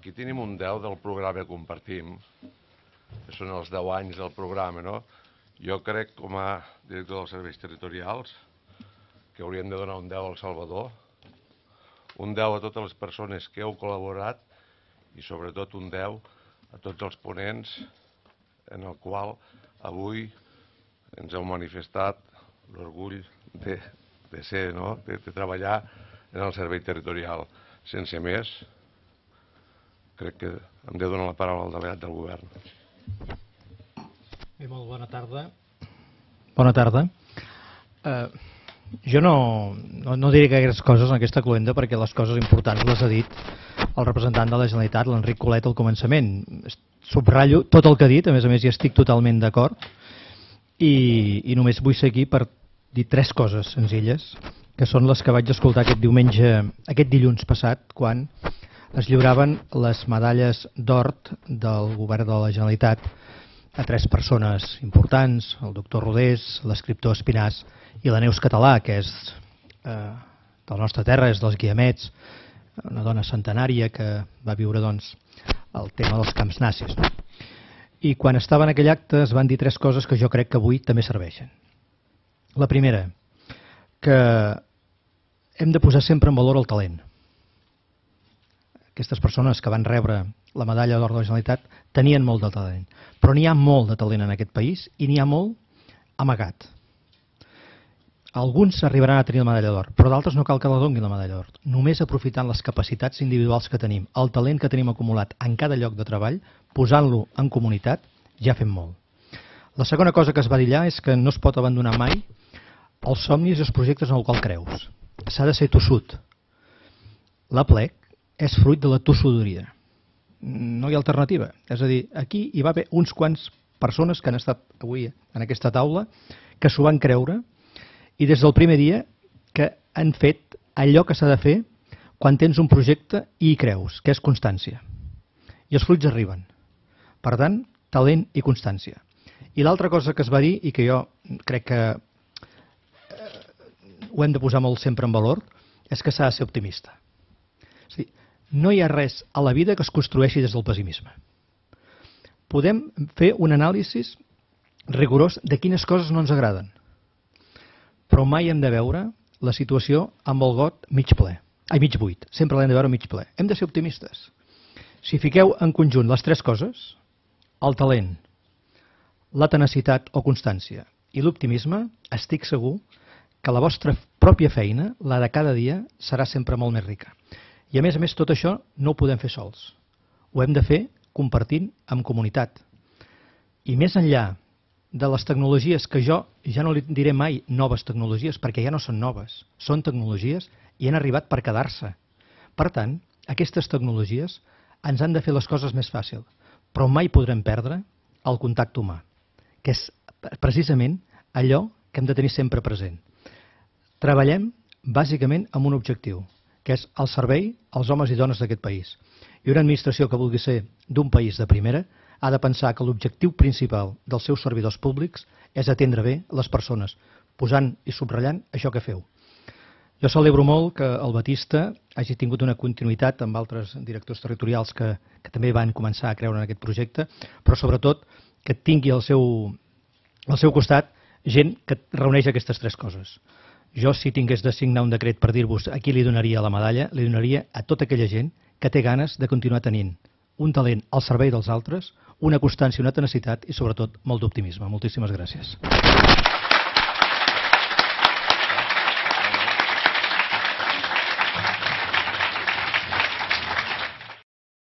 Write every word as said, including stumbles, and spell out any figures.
aquí tenim un deu del programa que compartim, que són els deu anys del programa, no? Jo crec, com a director dels serveis territorials, que hauríem de donar un deu al Salvador, un deu a totes les persones que heu col·laborat i sobretot un deu a tots els ponents en el qual avui ens heu manifestat l'orgull de, de ser, no? de, de treballar en el servei territorial. Sense més, crec que hem de donar la paraula al delegat del govern. Bé, molt bona tarda. Bona tarda. Eh, jo no, no, no diré gaires coses en aquesta cluenda perquè les coses importants les ha dit el representant de la Generalitat, l'Enric Colet, al començament. Subratllo tot el que ha dit, a més a més hi estic totalment d'acord, i, i només vull ser aquí per dir tres coses senzilles, que són les que vaig escoltar aquest diumenge, aquest dilluns passat, quan es lliuraven les medalles d'or del govern de la Generalitat a tres persones importants, el doctor Rodés, l'escriptor Espinàs i la Neus Català, que és eh, de la nostra terra, és dels Guiamets, una dona centenària que va viure doncs, el tema dels camps nazis. No? I quan estava en aquell acte es van dir tres coses que jo crec que avui també serveixen. La primera, que hem de posar sempre en valor el talent. Aquestes persones que van rebre la medalla d'or de la Generalitat tenien molt de talent, però n'hi ha molt de talent en aquest país i n'hi ha molt amagat. Alguns arribaran a tenir la medalla d'or, però d'altres no cal que la donin la medalla d'or. Només aprofitant les capacitats individuals que tenim, el talent que tenim acumulat en cada lloc de treball, posant-lo en comunitat, ja fem molt. La segona cosa que es va dir allà és que no es pot abandonar mai els somnis i els projectes en els quals creus. S'ha de ser tossut. La plec és fruit de la tossuderia. No hi ha alternativa. És a dir, aquí hi va haver uns quants persones que han estat avui en aquesta taula que s'ho van creure i des del primer dia que han fet allò que s'ha de fer quan tens un projecte i hi creus, que és constància. I els fruits arriben. Per tant, talent i constància. I l'altra cosa que es va dir, i que jo crec que ho hem de posar molt sempre en valor, és que s'ha de ser optimista. És a dir, no hi ha res a la vida que es construeixi des del pessimisme. Podem fer un anàlisi rigorós de quines coses no ens agraden, però mai hem de veure la situació amb el got mig ple, ai, mig buit. Sempre l'hem de veure mig ple. Hem de ser optimistes. Si fiqueu en conjunt les tres coses, el talent, la tenacitat o constància i l'optimisme, estic segur que la vostra pròpia feina, la de cada dia, serà sempre molt més rica. I a més a més tot això no ho podem fer sols. Ho hem de fer compartint amb comunitat. I més enllà de les tecnologies, que jo ja no li diré mai noves tecnologies, perquè ja no són noves, són tecnologies i han arribat per quedar-se. Per tant, aquestes tecnologies ens han de fer les coses més fàcil, però mai podrem perdre el contacte humà, que és precisament allò que hem de tenir sempre present. Treballem bàsicament amb un objectiu, que és el servei als homes i dones d'aquest país. I una administració que vulgui ser d'un país de primera ha de pensar que l'objectiu principal dels seus servidors públics és atendre bé les persones, posant i subratllant això que feu. Jo celebro molt que el Batista hagi tingut una continuïtat amb altres directors territorials que, que també van començar a creure en aquest projecte, però sobretot que tingui al seu, al seu costat gent que reuneix aquestes tres coses. Jo, si tingués de signar un decret per dir-vos a qui li donaria la medalla, li donaria a tota aquella gent que té ganes de continuar tenint un talent al servei dels altres, una constància, una tenacitat i sobretot molt d'optimisme. Moltíssimes gràcies.